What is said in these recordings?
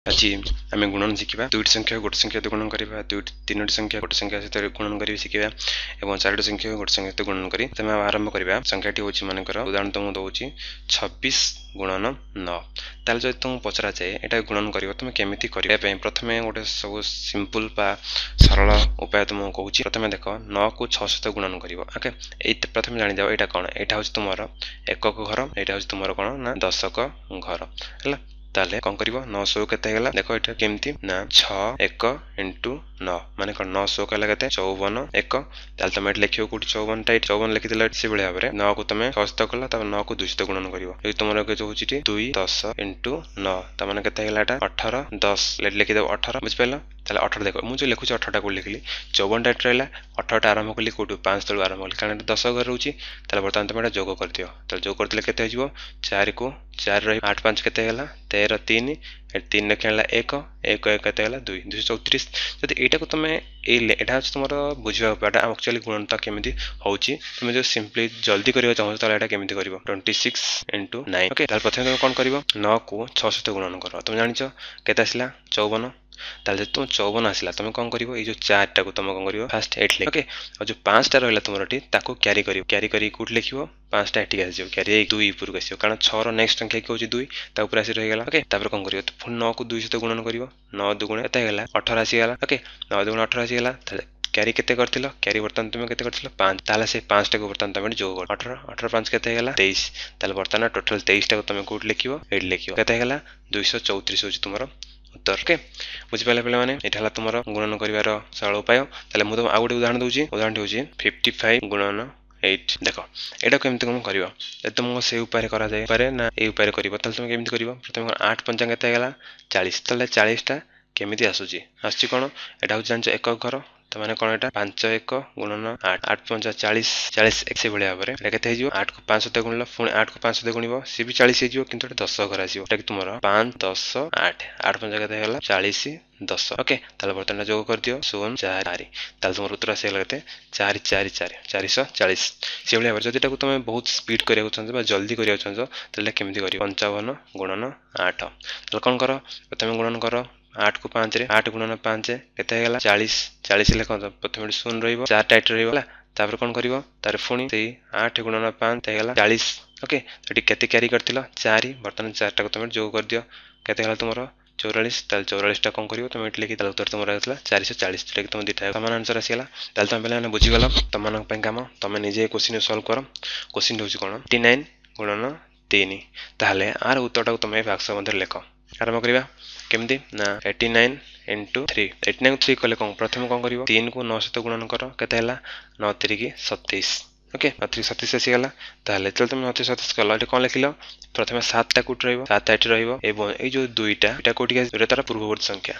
ଆଜି ଆମେ ଗୁଣନ ଶିଖିବା। ଦୁଇଟି ସଂଖ୍ୟା ଗୋଟେ ସଂଖ୍ୟା ସହିତ ଗୁଣନ କରିବା, ଦୁଇଟି ତିନୋଟି ସଂଖ୍ୟା ଗୋଟେ ସଂଖ୍ୟା ସହିତ ଗୁଣନ କରି ଶିଖିବା ଏବଂ ଚାରୋଟି ସଂଖ୍ୟା ଗୋଟେ ସଂଖ୍ୟା ସହିତ ଗୁଣନ କରି ପ୍ରଥମେ ଆରମ୍ଭ କରିବା। ସଂଖ୍ୟାଟି ହେଉଛି, ମନେକର ଉଦାହରଣ ତୁମକୁ ଦେଉଛି 26 ଗୁଣନ 9। ତାହେଲେ ଯଦି ତୁମକୁ ପଚରାଯାଏ ଏଇଟା ଗୁଣନ କରିବ, ତୁମେ କେମିତି କରିବା ପାଇଁ ପ୍ରଥମେ ଗୋଟେ ସବୁ ସିମ୍ପଲ୍ ବା ସରଳ ଉପାୟ ତୁମକୁ କହୁଛି। ପ୍ରଥମେ ଦେଖ, 9କୁ 6 ସହିତ ଗୁଣନ କରିବ। ଓକେ, ଏଇ ପ୍ରଥମେ ଜାଣିଯାଅ ଏଇଟା କ'ଣ। ଏଇଟା ହେଉଛି ତୁମର ଏକକ ଘର, ଏଇଟା ହେଉଛି ତୁମର କ'ଣ ନା ଦଶକ ଘର ହେଲା। ତାହେଲେ କ'ଣ କରିବ? 9 ଶହ କେତେ ହେଇଗଲା? ଦେଖ ଏଇଟା କେମିତି ନା 6 1 ଇଣ୍ଟୁ 9, ମାନେ କ'ଣ? 9 ଶହ ହେଲା କେତେ? 54 1। ତାହେଲେ ତମେ ଏଠି ଲେଖିବ କୋଉଠି 54ଟା? ଏଠି 54 ଲେଖିଦେଲ। ସେଭଳି ଭାବରେ 9କୁ ତମେ 6 ସହିତ କଲ, ତାପରେ 9କୁ 2 ସହିତ ଗୁଣନ କରିବ। ଯଦି ତୁମର କେତେ ହେଉଛି ଏଠି 2 10 ଇଣ୍ଟୁ 9, ତା ମାନେ କେତେ ହେଇଗଲା ଏଟା? 18 10 ଲେଖିଦେବ 18। ବୁଝିପାରିଲ? ତାହେଲେ 18 ଦେଖ, ମୁଁ ଯେଉଁ ଲେଖୁଛି 18ଟା କୋଉଠି ଲେଖିଲି? 54ଟା ଏଠି ରହିଲା। 18ଟା ଆରମ୍ଭ କଲି କୋଉଠୁ? 5 ତଳୁ ଆରମ୍ଭ କଲି, କାରଣ ଏଠି 10 ଘରେ ରହୁଛି। ତାହେଲେ ବର୍ତ୍ତମାନ ତମେ ଏଟା ଯୋଗ କରିଦିଅ। ତାହେଲେ ଯୋଗ କରିଦେଲେ କେତେ ହେଇଯିବ? 4କୁ 4 ରହିବ, 8 5 କେତେ ହେଇଗଲା? 13 3, ଏଠି 3 ଲେଖା ହେଲା 1 1 1 କେତେ ହେଲା? 2, 234। ଯଦି ଏଇଟାକୁ ତୁମେ ଏଇ ଏଇଟା ହେଉଛି ତୁମର ବୁଝିବା ଉପାୟଟା, ଆକ୍ଚୁଆଲି ଗୁଣନଟା କେମିତି ହେଉଛି। ତୁମେ ଯଦି ସିମ୍ପଲି ଜଲ୍ଦି କରିବାକୁ ଚାହୁଁଛ, ତାହେଲେ ଏଇଟା କେମିତି କରିବ? 26 ଇଣ୍ଟୁ 9। ଓକେ, ତାହେଲେ ପ୍ରଥମେ ତୁମେ କ'ଣ କରିବ? 9କୁ 6 ସହିତ ଗୁଣନ କର। ତୁମେ ଜାଣିଛ କେତେ ଆସିଲା? 54। ତାହେଲେ ଯଦି ତୁମ 54 ଆସିଲା, ତୁମେ କ'ଣ କରିବ? ଏଇ ଯେଉଁ 4ଟାକୁ ତୁମେ କ'ଣ କରିବ? ଫାଷ୍ଟ ଏଇଠି ଲେଖ। ଓକେ, ଆଉ ଯେଉଁ 5ଟା ରହିଲା ତୁମର ଏଠି, ତାକୁ କ୍ୟାରି କରିବ। କ୍ୟାରି କରିକି କେଉଁଠି ଲେଖିବ? 5ଟା ଏଠିକି ଆସିଯିବ, କ୍ୟାରି ହେଇକି 2 ଉପରକୁ ଆସିବ, କାରଣ 6ର ନେକ୍ସଟ ସଂଖ୍ୟା କି ହେଉଛି 2, ତା ଉପରେ ଆସି ରହିଗଲା। ଓକେ, ତାପରେ କ'ଣ କରିବ? ପୁଣି 9କୁ 2 ସହିତ ଗୁଣନ କରିବ। 9 ଦୁଗୁଣ କେତେ ହେଇଗଲା? 18 ଆସିଗଲା। ଓକେ, 9 ଦୁଗୁଣ 18 ଆସିଗଲା। ତାହେଲେ କ୍ୟାରି କେତେ କରିଥିଲ? କ୍ୟାରି ବର୍ତ୍ତମାନ ତୁମେ କେତେ କରିଥିଲ? 5। ତାହେଲେ ସେ 5ଟାକୁ ବର୍ତ୍ତମାନ ତମେ ଯୋଗ କର। 18 18 5 କେତେ ହେଇଗଲା? 23। ତାହେଲେ ବର୍ତ୍ତମାନ ଟୋଟାଲ 23ଟାକୁ ତମେ କେଉଁଠି ଲେଖିବ? ଏଇଠି ଲେଖିବ। କେତେ ହେଇଗଲା? 234 ହେଉଛି ତୁମର ଉତ୍ତର। ଓକେ, ବୁଝିପାରିଲେ ପିଲାମାନେ? ଏଇଟା ହେଲା ତୁମର ଗୁଣନ କରିବାର ସରଳ ଉପାୟ। ତାହେଲେ ମୁଁ ତୁମକୁ ଆଉ ଗୋଟେ ଉଦାହରଣ ଦେଉଛି। ଉଦାହରଣଟି ହେଉଛି 55 ଗୁଣନ 8। ଦେଖ ଏଇଟା କେମିତି କ'ଣ କରିବ। ଯଦି ତୁମକୁ ସେଇ ଉପାୟରେ କରାଯାଏ ଉପାୟରେ ନା ଏଇ ଉପାୟରେ କରିବ, ତାହେଲେ ତୁମେ କେମିତି କରିବ? ପ୍ରଥମେ 8 ପଞ୍ଚା କେତେ ହେଇଗଲା? 40। ତାହେଲେ 40ଟା କେମିତି ଆସୁଛି? ଆସୁଛି କ'ଣ? ଏଇଟା ହେଉଛି ଜାଣିଛ ଏକକ ଘର, ତାମାନେ କ'ଣ ଏଇଟା 5 1 ଗୁଣନ 8, 8 ପଞ୍ଚା 40, 40। ସେଭଳି ଭାବରେ ଏଇଟା କେତେ ହେଇଯିବ? 8କୁ 5 ସହିତ ଗୁଣିଲ, ପୁଣି 8କୁ 5 ସହିତ ଗୁଣିବ, ସିଏ ବି 40 ହେଇଯିବ, କିନ୍ତୁ ଏଟା 10 ଘର ଆସିବ। ଏଟା କି ତୁମର 5 10 8, 8 ପଞ୍ଚା କେତେ ହେଇଗଲା? 40 10। ଓକେ, ତାହେଲେ ବର୍ତ୍ତମାନ ଯୋଗ କରିଦିଅ, 0 4 4। ତାହେଲେ ତୁମର ଉତ୍ତର ଆସିଗଲା କେତେ? 4 4 4, 440। ସେଭଳି ଭାବରେ ଯଦି ଏଟାକୁ ତୁମେ ବହୁତ ସ୍ପିଡ୍ କରିବାକୁ ଚାହୁଁଛ ବା ଜଲ୍ଦି କରିବାକୁ ଚାହୁଁଛ, ତାହେଲେ କେମିତି କରିବ? 55 ଗୁଣନ 8। ତାହେଲେ କ'ଣ କର? ପ୍ରଥମେ ଗୁଣନ କର 8କୁ 5ରେ। 8 ଗୁଣନ 5 କେତେ ହେଇଗଲା? 40। 40 ହେଲେ କ'ଣ? ପ୍ରଥମେ ଏଠି 0 ରହିବ, 4ଟା ଏଠି ରହିବ ହେଲା। ତାପରେ କ'ଣ କରିବ? ତାପରେ ପୁଣି ସେଇ 8 ଗୁଣନ 5 ହେଇଗଲା 40। ଓକେ, ଏଠି କେତେ କ୍ୟାରି କରିଥିଲ? 4। ବର୍ତ୍ତମାନ 4ଟାକୁ ତୁମେ ଯୋଗ କରିଦିଅ, କେତେ ହେଲା ତୁମର? 44। ତାହେଲେ 44ଟା କ'ଣ କରିବ ତୁମେ ଏଠି ଲେଖି? ତାହେଲେ ଉତ୍ତର ତୁମର ଆସିଲା 440, ଯେଉଁଟାକି ତୁମ ଦୁଇଟା ସମାନ ଆନ୍ସର ଆସିଗଲା। ତାହେଲେ ତୁମେ ପିଲାମାନେ ବୁଝିଗଲ। ତୁମମାନଙ୍କ ପାଇଁ କାମ, ତୁମେ ନିଜେ କୋଶ୍ଚିନ୍ ସଲ୍ଭ କର। କୋଶ୍ଚିନ୍ ହେଉଛି କ'ଣ? 89 ଗୁଣନ 3। ତାହେଲେ ଆର ଉତ୍ତରଟାକୁ ତୁମେ ବାକ୍ସ ମଧ୍ୟରେ ଲେଖ। ଆରମ୍ଭ କରିବା କେମିତି ନା 89 ଇଣ୍ଟୁ 3। 89 3 କଲେ କ'ଣ? ପ୍ରଥମେ କ'ଣ କରିବ? 3କୁ 9 ସହିତ ଗୁଣନ କର, କେତେ ହେଲା? 9 ତିରିକି 27। ଓକେ, 9 ତିରିକି 27 ଆସିଗଲା। ତାହେଲେ ଯେତେବେଳେ ତୁମେ 9 ତିରିକି 27 କଲ, ଏଠି କ'ଣ ଲେଖିଲ? ପ୍ରଥମେ 7ଟା କେଉଁଠି ରହିବ? 7 ଏଠି ରହିବ, ଏବଂ ଏଇ ଯେଉଁ 2ଟା, ଏଇଟା କେଉଁଠିକି ଆସିବ? 2ଟା ତାର ପୂର୍ବବର୍ତ୍ତୀ ସଂଖ୍ୟା,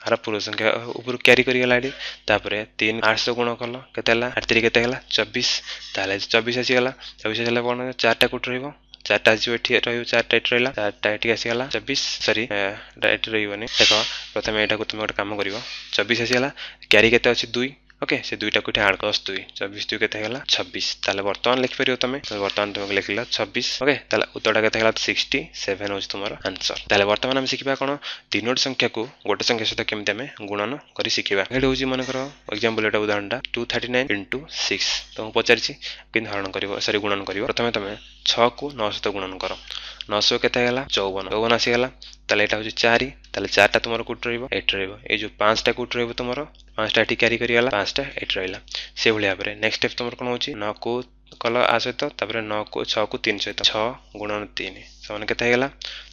ଆର ପୂର୍ବ ସଂଖ୍ୟା ଉପରୁ କ୍ୟାରି କରିଗଲା ଏଠି। ତାପରେ 3 8 ଗୁଣ କଲ, କେତେ ହେଲା? 8 ତିରି କେତେ ହେଲା? 24। ତାହେଲେ 24 ଆସିଗଲା। 24 ଆସିଗଲା କ'ଣ? 4ଟା କେଉଁଠି ରହିବ? 4ଟା ଆସିବ ଏଠି ରହିବ, 4ଟା ଏଠି ରହିଲା, 4ଟା ଏଠିକି ଆସିଗଲା। 24, ସରି, ଏଇଟା ଏଠି ରହିବନି। ଦେଖ, ପ୍ରଥମେ ଏଇଟାକୁ ତୁମେ ଗୋଟେ କାମ କରିବ। 24 ଆସିଗଲା, କ୍ୟାରି କେତେ ଅଛି? 2। ଓକେ, ସେ 2ଟାକୁ ଏଠି ଆଡ଼, 10 2, 24 2 କେତେ ହେଇଗଲା? 26। ତାହେଲେ ବର୍ତ୍ତମାନ ଲେଖିପାରିବ ତମେ। ବର୍ତ୍ତମାନ ତୁମକୁ ଲେଖିଲ 26। ଓକେ, ତାହେଲେ ଉତ୍ତରଟା କେତେ ହେଇଗଲା? 67 ହେଉଛି ତୁମର ଆନ୍ସର। ତାହେଲେ ବର୍ତ୍ତମାନ ଆମେ ଶିଖିବା କ'ଣ? ତିନୋଟି ସଂଖ୍ୟାକୁ ଗୋଟେ ସଂଖ୍ୟା ସହିତ କେମିତି ଆମେ ଗୁଣନ କରି ଶିଖିବା। ଏଇଠି ହେଉଛି ମନେକର ଏକ୍ଜାମ୍ପଲ୍, ଏଇଟା ଉଦାହରଣଟା 239 ଇଣ୍ଟୁ 6 ତୁମକୁ ପଚାରିଛି, କେମିତି ହରଣ କରିବ, ସରି ଗୁଣନ କରିବ। ପ୍ରଥମେ ତମେ 6କୁ 9 ସହିତ ଗୁଣନ କର। 900 କେତେ ହେଇଗଲା? 54। 54 ଆସିଗଲା। ତାହେଲେ ଏଇଟା ହେଉଛି 4। ତାହେଲେ 4ଟା ତୁମର କେଉଁଠି ରହିବ? ଏଠି ରହିବ। ଏଇ ଯେଉଁ 5ଟା କେଉଁଠି ରହିବ ତୁମର? 5ଟା ଏଠି କ୍ୟାରି କରିଗଲା, 5ଟା ଏଠି ରହିଲା। ସେଭଳି ଭାବରେ ନେକ୍ସଟ ଷ୍ଟେପ୍ ତୁମର କ'ଣ ହେଉଛି? 9କୁ କଲ ଆ ସହିତ, ତାପରେ 9କୁ 6କୁ 3 ସହିତ, 6 ଗୁଣନ 3 ସେମାନେ କେତେ ହେଇଗଲା?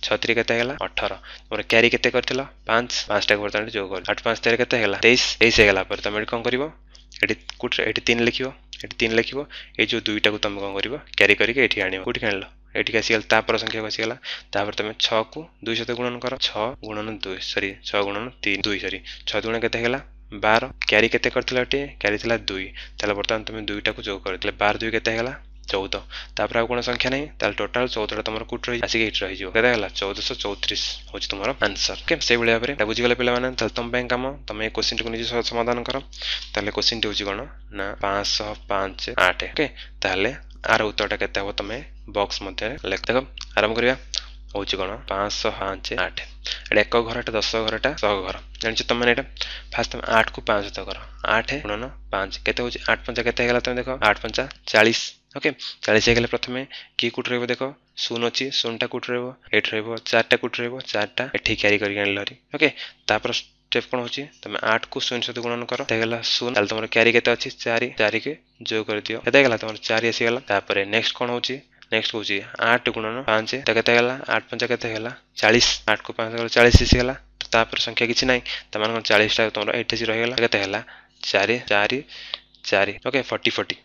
6 ତିରି କେତେ ହେଇଗଲା? 18। ତୁମର କ୍ୟାରି କେତେ କରିଥିଲ? 5। 5ଟାକୁ ବର୍ତ୍ତମାନ ଯୋଗ କର। 8 5 13 କେତେ ହେଇଗଲା? 23। 23 ହେଇଗଲା ପରେ ତମେ ଏଠି କ'ଣ କରିବ? ଏଠି କେଉଁଠି? ଏଠି 3 ଲେଖିବ, ଏଠି 3 ଲେଖିବ। ଏଇ ଯେଉଁ 2ଟାକୁ ତମେ କ'ଣ କରିବ? କ୍ୟାରି କରିକି ଏଠି ଆଣିବ। କେଉଁଠିକି ଆଣିଲ? ଏଠିକି ଆସିଗଲା, ତାପର ସଂଖ୍ୟାକୁ ଆସିଗଲା। ତାପରେ ତମେ 6କୁ 2 ସହିତ ଗୁଣନ କର। 6 ଗୁଣନ 2, ସରି 6 ଗୁଣନ 3, 2, ସରି 6 ଦୁଗୁଣ କେତେ ହେଇଗଲା? 12। କ୍ୟାରି କେତେ କରିଥିଲ ଏଠି? କ୍ୟାରି ଥିଲା 2। ତାହେଲେ ବର୍ତ୍ତମାନ ତମେ 2ଟାକୁ ଯୋଗ କରିଥିଲେ, 12 2 କେତେ ହେଇଗଲା? 14। ତାପରେ ଆଉ କ'ଣ ସଂଖ୍ୟା ନାହିଁ। ତାହେଲେ ଟୋଟାଲ 14ଟା ତମର କୋଉଠି ରହି ଆସିକି ଏଇଠି ରହିଯିବ। କେତେ ହେଲା? 1434 ହେଉଛି ତୁମର ଆନ୍ସର। ଓକେ, ସେଇଭଳି ଭାବରେ ଏଇଟା ବୁଝିଗଲେ ପିଲାମାନେ। ତାହେଲେ ତମ ପାଇଁ କାମ, ତମେ ଏ କୋଶ୍ଚିନ୍ଟିକୁ ନିଜେ ସମାଧାନ କର। ତାହେଲେ କୋଶ୍ଚିନ୍ଟି ହେଉଛି କ'ଣ ନା 505 8। ଓକେ, ତାହେଲେ ଆର ଉତ୍ତରଟା କେତେ ହେବ ତମେ ବକ୍ସ ମଧ୍ୟରେ ଲେଖ। ଦେଖ, ଆରମ୍ଭ କରିବା। ହେଉଛି କ'ଣ? 505 8। ଏଇଟା ଏକ ଘର, ଏଟା ଦଶ ଘର, ଏଟା ଶହ ଘର। ଜାଣିଛ ତମେ ଏଇଟା ଫାଷ୍ଟ ତମେ 8କୁ 5 ସହିତ କର। 8 ଗୁଣନ 5 କେତେ ହେଉଛି? 8 ପଞ୍ଚା କେତେ ହେଇଗଲା ତମେ ଦେଖ, 8 ପଞ୍ଚା 40। ଓକେ, 40 ହେଇଗଲେ ପ୍ରଥମେ କିଏ କେଉଁଠି ରହିବ ଦେଖ, 0 ଅଛି, 0ଟା କେଉଁଠି ରହିବ? ଏଇଠି ରହିବ। 4ଟା କେଉଁଠି ରହିବ? 4ଟା ଏଠି କ୍ୟାରି କରିକି ଆଣିଲ ଭାରି। ଓକେ, ତାପରେ ଷ୍ଟେପ୍ କ'ଣ ହେଉଛି? ତମେ 8କୁ 0 ସହିତ ଗୁଣନ କର, ହେଇଗଲା 0। ତାହେଲେ ତମର କ୍ୟାରି କେତେ ଅଛି? 4। 4କୁ ଯୋଗ କରିଦିଅ, କେତେ ହେଇଗଲା ତମର? 4 ଆସିଗଲା। ତାପରେ ନେକ୍ସଟ କ'ଣ ହେଉଛି? ନେକ୍ସଟ ହେଉଛି 8 ଗୁଣନ 5, ତ କେତେ ହେଇଗଲା? 8 ପଞ୍ଚା କେତେ ହେଇଗଲା? 40। 8କୁ 5 ଗଲେ 40 ଆସିଗଲା। ତ ତାପରେ ସଂଖ୍ୟା କିଛି ନାହିଁ, ତାମାନେ କ'ଣ 40ଟା ତମର ଏଇଠି ରହିଗଲା। କେତେ ହେଲା? 4 4 4। ଓକେ, 40 40।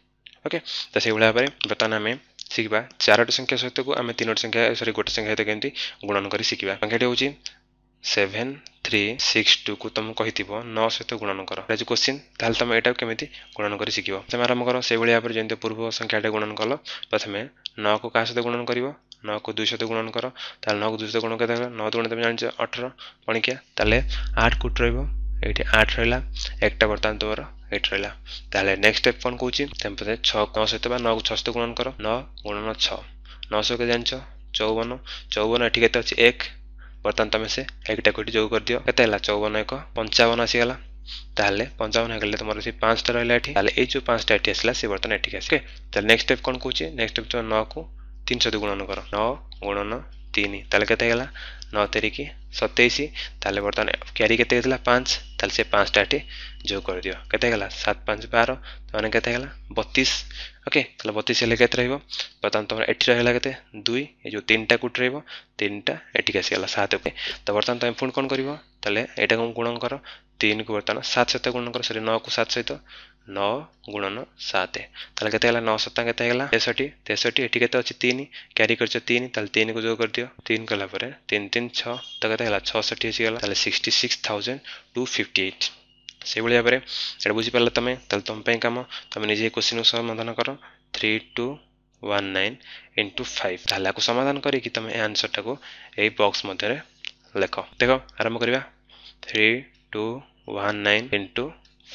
ଓକେ, ତ ସେଇଭଳି ଭାବରେ ବର୍ତ୍ତମାନ ଆମେ ଶିଖିବା 4ଟି ସଂଖ୍ୟା ସହିତକୁ ଆମେ 3ଟି ସଂଖ୍ୟା, ସରି, ଗୋଟେ ସଂଖ୍ୟା ସହିତ କେମିତି ଗୁଣନ କରି ଶିଖିବା। ସଂଖ୍ୟାଟି ହେଉଛି 7 3 6 2କୁ ତୁମକୁ କହିଥିବ 9 ସହିତ ଗୁଣନ କର, ଏଇଟା ଯେଉଁ କୋଶ୍ଚିନ୍, ତାହେଲେ ତୁମେ ଏଇଟାକୁ କେମିତି ଗୁଣନ କରି ଶିଖିବ? ତମେ ଆରମ୍ଭ କର ସେଇଭଳି ଭାବରେ ଯେମିତି ପୂର୍ବ ସଂଖ୍ୟାଟା ଗୁଣନ କଲ। ପ୍ରଥମେ 9କୁ କାହା ସହିତ ଗୁଣନ କରିବ? 9କୁ 2 ସହିତ ଗୁଣନ କର। ତାହେଲେ 9କୁ 2 ସହିତ ଗୁଣନ କେତେ ହେଲା? 9 ଦୁଗୁଣ ତମେ ଜାଣିଛ 18 ପଣିକିଆ। ତାହେଲେ 8 କୋଉଠି ରହିବ? ଏଇଠି 8 ରହିଲା, 1ଟା ବର୍ତ୍ତମାନ ତୁମର ଏଇଠି ରହିଲା। ତାହେଲେ ନେକ୍ସଟ ଷ୍ଟେପ୍ କ'ଣ କହୁଛି? ତମେ ପ୍ରଥମେ 6 9 ସହିତ ବା 9କୁ 6 ସହିତ ଗୁଣନ କର। 9 ଗୁଣନ 6, 9 ସହ କେତେ ଜାଣିଛ? 54। 54 ଏଠି କେତେ ଅଛି? 1। ବର୍ତ୍ତମାନ ତମେ ସେ 1ଟାକୁ ଏଠି ଯୋଗ କରିଦିଅ, କେତେ ହେଲା? 54 1 55 ଆସିଗଲା। ତାହେଲେ 55 ହେଇଗଲେ ତୁମର ସେ 5ଟା ରହିଲା ଏଠି। ତାହେଲେ ଏଇ ଯେଉଁ 5ଟା ଏଠି ଆସିଲା ସେ ବର୍ତ୍ତମାନ ଏଠିକି ଆସିବ। ତାହେଲେ ନେକ୍ସଟ ଷ୍ଟେପ୍ କ'ଣ କହୁଛି? ନେକ୍ସଟ ଷ୍ଟେପ୍ ତୁମେ 9କୁ 3 ସହିତ ଗୁଣନ କର। 9 ଗୁଣନ 3, ତାହେଲେ କେତେ ହେଇଗଲା? 9 ତେରିକି 27। ତାହେଲେ ବର୍ତ୍ତମାନ କ୍ୟାରି କେତେ ହେଇଥିଲା? 5। ତାହେଲେ ସେ 5ଟା ଏଠି ଯୋଗ କରିଦିଅ, କେତେ ହେଇଗଲା? 7 5 12, ତାମାନେ କେତେ ହେଇଗଲା? 32। ଓକେ, ତାହେଲେ 32 ହେଲେ କେତେ ରହିବ? ବର୍ତ୍ତମାନ ତୁମର ଏଠି ରହିଲା କେତେ? 2। ଏ ଯେଉଁ 3ଟା କେଉଁଠି ରହିବ? 3ଟା ଏଠିକି ଆସିଗଲା, 7। ଓକେ, ତ ବର୍ତ୍ତମାନ ତୁମେ ପୁଣି କ'ଣ କରିବ? ତାହେଲେ ଏଇଟାକୁ ଗୁଣନ କର, 3କୁ ବର୍ତ୍ତମାନ 7 ସହିତ ଗୁଣନ କର, ସରି 9କୁ 7 ସହିତ, 9 ଗୁଣନ 7, ତାହେଲେ କେତେ ହେଲା? 9 ସତା କେତେ ହେଇଗଲା? 63। 63 ଏଠି କେତେ ଅଛି? 3, କ୍ୟାରି କରିଛ 3, ତାହେଲେ 3କୁ ଯୋଗ କରିଦିଅ। 3 କଲା ପରେ 3 3 6, ତ କେତେ ହେଲା? 66 ଆସିଗଲା। ତାହେଲେ 66,258। ସେଇଭଳି ଭାବରେ ଏଇଟା ବୁଝିପାରିଲ ତମେ? ତାହେଲେ ତୁମ ପାଇଁ କାମ, ତମେ ନିଜେ କୋଶ୍ଚିନ୍କୁ ସମାଧାନ କର। 3 2 1 9 ଇଣ୍ଟୁ 5, ତାହେଲେ ଆକୁ ସମାଧାନ କରିକି ତମେ ଏ ଆନ୍ସରଟାକୁ ଏଇ ବକ୍ସ ମଧ୍ୟରେ ଲେଖ। ଦେଖ, ଆରମ୍ଭ କରିବା। 3 2 1 9 ଇଣ୍ଟୁ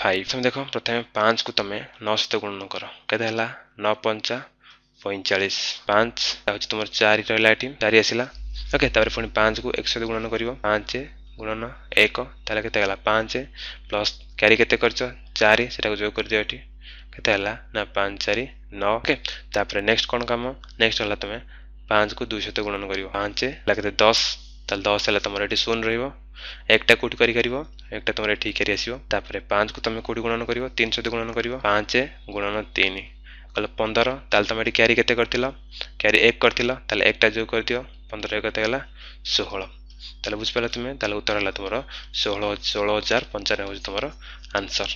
5। ତମେ ଦେଖ, ପ୍ରଥମେ 5କୁ ତମେ 9 ସହିତ ଗୁଣନ କର, କେତେ ହେଲା? 9 ପଞ୍ଚା 45, 5 ହେଉଛି ତୁମର 4 ରହିଲା ଏଠି, 4 ଆସିଲା। ଓକେ, ତାପରେ ପୁଣି 5କୁ 1 ସହିତ ଗୁଣନ କରିବ। 5 ଗୁଣନ 1, ତାହେଲେ କେତେ ହେଲା? 5 ପ୍ଲସ୍ କ୍ୟାରି କେତେ କରିଛ? 4, ସେଟାକୁ ଯୋଗ କରିଦିଅ ଏଠି, କେତେ ହେଲା ନା 5 4 9। ଓକେ, ତାପରେ ନେକ୍ସଟ କ'ଣ କାମ? ନେକ୍ସଟ ହେଲା ତମେ 5କୁ 2 ସହିତ ଗୁଣନ କରିବ। 5 ହେଲା କେତେ? 10। ତାହେଲେ 10 ହେଲେ ତୁମର ଏଠି 0 ରହିବ, 1ଟା କେଉଁଠି କରିପାରିବ? 1ଟା ତୁମର ଏଠି କ୍ୟାରି ଆସିବ। ତାପରେ 5କୁ ତୁମେ କେଉଁଠି ଗୁଣନ କରିବ? 3 ସହିତ ଗୁଣନ କରିବ। 5 ଗୁଣନ 3 କହିଲେ 15। ତାହେଲେ ତୁମେ ଏଠି କ୍ୟାରି କେତେ କରିଥିଲ? କ୍ୟାରି 1 କରିଥିଲ, ତାହେଲେ 1ଟା ଯୋଗ କରିଦିଅ। 15 1 କେତେ ହେଲା? 16। ତାହେଲେ ବୁଝିପାରିଲ ତୁମେ? ତାହେଲେ ଉତ୍ତର ହେଲା ତୁମର 16,095 ହେଉଛି ତୁମର ଆନ୍ସର।